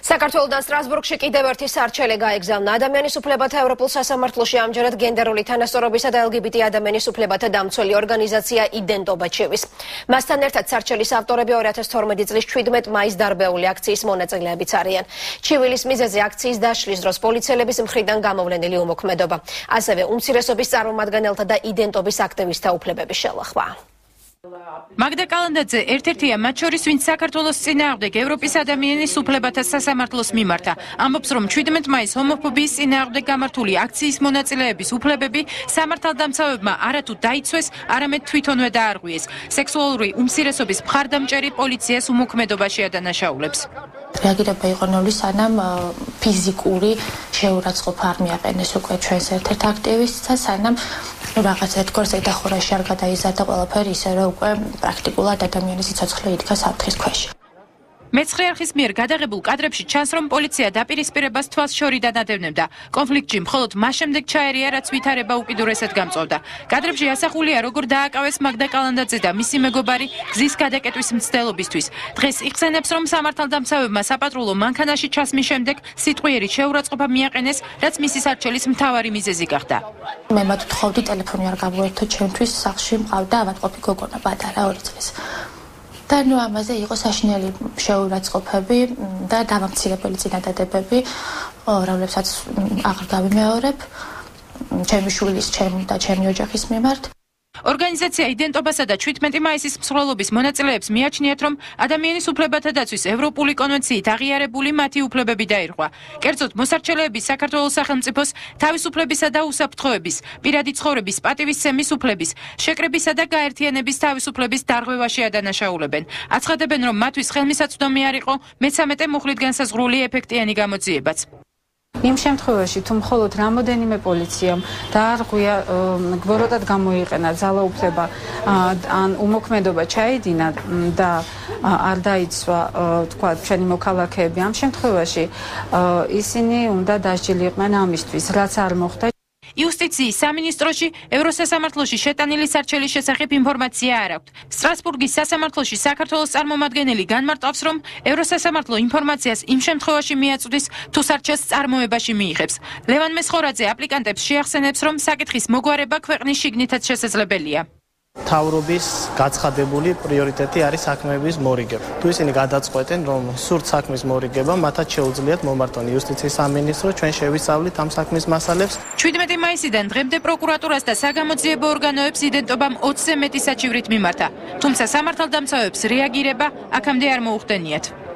საქართველოდან სტრასბურგში კიდევ ერთი სარჩელე გაეგზავნა. ადამიანის უფლებათა ევროპულ სასამართლოში ამჯერად გენდერული თანასწორობისა და LGBT ადამიანის უფლებათა დამცველი ორგანიზაცია იდენტობა ჩევის. მასთან ერთად სარჩელის ავტორები 2012 წლის 17 მაისს დარბეული აქციის მონაწილეებიც არიან. ჩივილის მიზეზი აქციის დაშლის დროს პოლიციელების მხრიდან გამოვლენილი უმოქმედობა. ასევე უმცირესობის წარმომადგენელთა და იდენტობის აქტივისტთა უფლებების შელახვა. მაგდა კალანდაძე ერთ-ერთია მათ შორის, ვინც საქართველოს წინააღმდეგ ევროპის ადამიანის უფლებათა სასამართლოს მიმართა. ამბობს, რომ 17 მაისს ჰომოფობიის წინააღმდეგ გამართული აქციის მონაწილეების უფლებები სამართალდამცავებმა არათუ დაიცვეს, არამედ თვითონვე დაარღვიეს. სექსუალური უმცირესობის მხარდამჭერი პოლიციას უმოქმედობაში ადანაშაულებს. რეაგირება იყო ნული, სანამ ფიზიკური შეურაცხყოფა არ მიაყენეს უკვე ჩვენს ერთ-ერთ აქტივისტს და სანამ რაღაც ერთგვარ ზედახურაში არ გადაიზარდა ყველაფერი ისე, რომ უკვე პრაქტიკულად ადამიანის სიცოცხლე იდგა საფრთხის ქვეშ. მეცხრე არხის მიერ გადაღებულ კადრებში ჩანს, რომ პოლიცია დაპირისპირებას თვალს შორიდან ადევნებდა. კონფლიქტში მხოლოდ მას შემდეგ ჩაერია, რაც ვითარება უკიდურესად გამწვავდა. კადრებში ასახულია, როგორ დააკავეს მაგდა კალანდაძე და მისი მეგობარი გზის გადაკეტვის მცდელობისთვის. დღეს იხსენებს, რომ სამართალდამცავებმა საპატრულო მანქანაში ჩასმის შემდეგ სიტყვიერი შეურაცხყოფა მიაყენეს, რაც მისი სარჩელის მთავარი მიზეზი გახდა. მე მათ ვთხოვდი ტელეფონი არ გამოერთო, ჩემთვის სახლში მყავდა ავადმყოფი გოგონა პატარა 2 წლის. და ნუ ამაზე იყო საშინელი შეურაცხყოფები და დამამცირებელი წინადადებები, რომლებსაც აღარ გავიმეორებ ჩემი შვილის, ჩემი და ჩემი ოჯახის მიმართ. ორგანიზაცია იდენტობასა და 17 მაისის მსვლელობის მონაწილეებს მიაჩნიათ, რომ ადამიანის უფლებათა დაცვის ევროპული კონვენციით აღიარებული მათი უფლებები დაირღვა. კერძოდ, მოსარჩელეები საქართველოს სახელმწიფოს თავისუფლებისა და უსაფრთხოების, პირადი ცხოვრების პატივისცემის უფლების, შეკრებისა და გაერთიანების თავისუფლების დარღვევაში ადანაშაულებენ. აცხადებენ, რომ მათთვის ხელმისაწვდომი არ იყო მე-13 მუხლით განსაზღვრული ეფექტიანი გამოძიებაც. იმ შემთხვევაში, თუ მხოლოდ რამოდენიმე პოლიციამ დაარღვია, გბოროტად გამოიყენა ძალაუფლება ან უმოქმედობა ჩაედინა და არ დაიცვა, თქვა, ჩვენი მოქალაქეები, ამ შემთხვევაში ისინი უნდა დასჯილიყვნენ ამისთვის, რაც არ მოხდა. იუსტიციის სამინისტროში ევროსასამართლოში შეტანილი სარჩელის შესახებ ინფორმაცია არ აქვს. სტრასბურგის სასამართლოში საქართველოს წარმომადგენელი განმარტავს, რომ ევროსასამართლო ინფორმაციას იმ შემთხვევაში მიაწვდის, თუ სარჩელს წარმოებაში მიიღებს. ლევან მესხორაძე აპლიკანტებს შეახსენებს, რომ საკითხის მოგვარება ქვეყნის შიგნითაც შესაძლებელია. მთავრობის გაცხადებული პრიორიტეტი არის საქმეების მორიგება. თუ ისინი გადაწყვეტენ, რომ სურთ საქმის მორიგება, მათაც შეუძლიათ მომართონ იუსტიციის სამინისტრო, ჩვენ შევისწავლით ამ საქმის მასალებს. 17 მაისიდან დღემდე პროკურატურას და საგამოძიებო ორგანოებს იდენტობამ 20-ზე მეტი საჩივრით მიმართა. თუმცა სამართალდამცავებს რეაგირება აქამდე არ მოუხდენიათ.